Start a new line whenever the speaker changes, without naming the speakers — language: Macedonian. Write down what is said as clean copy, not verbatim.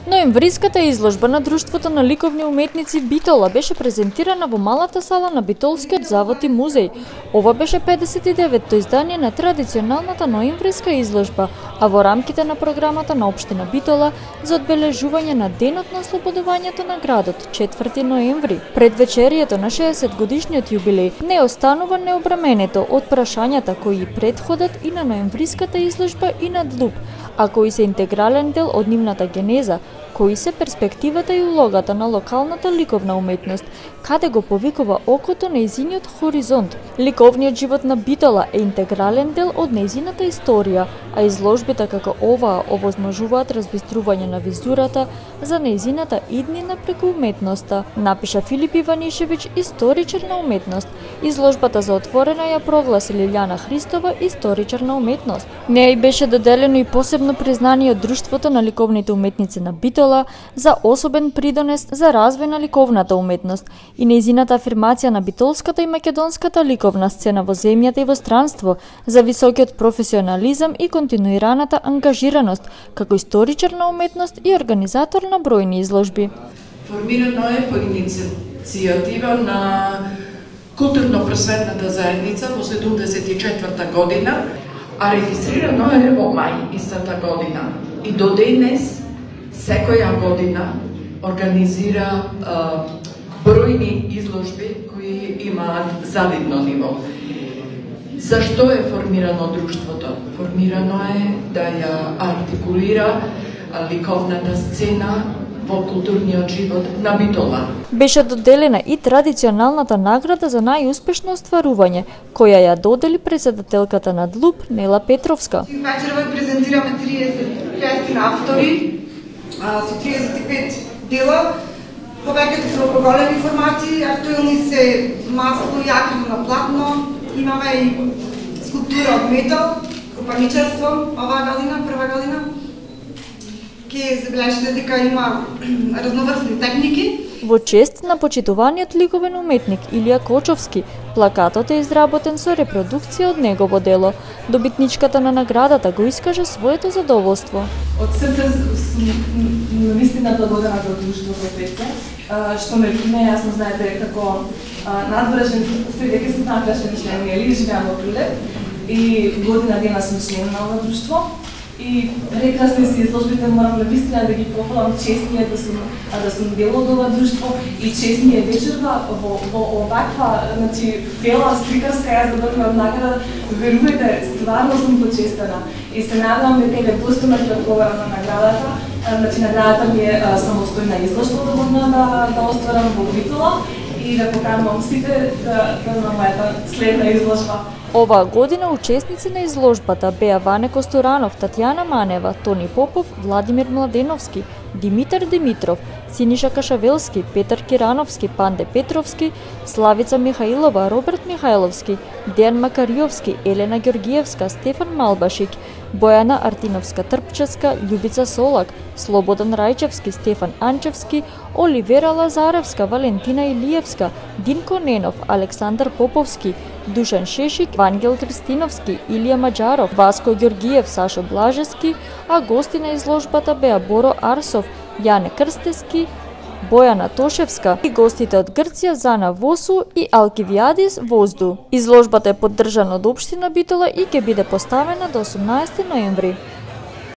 Ноемвриската изложба на Друштвото на ликовни уметници Битола беше презентирана во малата сала на Битолскиот завод и музеј. Ова беше 59-то издание на традиционалната ноемвриска изложба, а во рамките на програмата на општина Битола за одбележување на денот на ослободувањето на градот, 4 ноември. Предвечерието на 60 годишниот јубилеј не останува необраменето од прашањата кои претходат и на ноемвриската изложба и на ДЛУП, а кои се интегрален дел од нивната генеза, кои се перспективата и улогата на локалната ликовна уметност, каде го повикува окото нејзиниот хоризонт. Ликовниот живот на Битола е интегрален дел од нејзината историја, а изложбите како оваа овозможуваат разбистрување на визурата за нејзината иднина преку уметноста, напиша Филип Иванишевиќ, историчар на уметност. Изложбата за отворена ја прогласи Лилјана Христова, историчар на уметност. Неа и беше доделено и посебно признание од Друштвото на ликовните уметници на Битола за особен придонес за развој на ликовната уметност и нејзината афирмација на битолската и македонската ликовна сцена во земјата и во странство, за високиот професионализам и континуираната ангажираност како историчар на уметност и организатор на бројни изложби.
Формирано е по иницијатива на културно-просветната заедница во 74 година, а регистрирано е во мај истата година. И до денес, секоја година, организира бројни изложби кои имаат завидно ниво. Зашто е формирано друштвото? Формирано е да ја артикулира ликовната сцена во културниот живот на Битола.
Беше доделена и традиционалната награда за најуспешно остварување, која ја додели председателката на ДЛУП Нела Петровска.
Вечерва презентираме 30 автори со 35 дела. Повеќето се големи формати, актуелни се масло и акрилно платно, имаме и скулптура од метал, копаничарство оваа година, прва година. Ке забележите дека има разноврсни техники.
Во чест на почитуваниот ликовен уметник Илија Кочовски, плакатот е изработен со репродукција од негово дело. Добитничката на наградата го искаже своето задоволство.
Од срце сум навистина благодарна за друштвото ПЦ, што ме јасно знаете како надбрежен, дека сум надбрежен член, или живеам во Прилеп и година дена сум член на ова друштво. И прекрасни се изложбите, морам навистина да ги похвалам, чест ми е да сум дел од ова друштво и чест ми е вечерва во оваква, бела сликарска ја задобивам награда. Верувајте, стварно сум почестена и се надевам дека ќе достойно ќе одговарам на наградата. Наградата ми е самостојна изложба да остварам во Битола и да поканувам сите на мојата следна изложба.
Оваа година учесници на изложбата беа Ване Костуранов, Татјана Манева, Тони Попов, Владимир Младеновски, Димитар Димитров, Синиша Кашавелски, Петар Кирановски, Панде Петровски, Славица Михаилова, Роберт Михајловски, Дејан Макариовски, Елена Ѓоргиевска, Стефан Малбашик, Бојана Артиновска Трпчевска, Љубица Солак, Слободан Рајчевски, Стефан Анчевски, Оливера Лазаревска, Валентина Илиевска, Динко Ненов, Александар Поповски, Душан Шешик, Вангел Кристиновски, Илија Маџаров, Васко Ѓоргиев, Сашо Блажевски, а гости на изложбата беа Боро Арсов, Јане Крстески, Бојана Тошевска и гостите од Грција Зана Восу и Алкивиадис Возду. Изложбата е поддржана од општина Битола и ќе биде поставена до 18 ноември.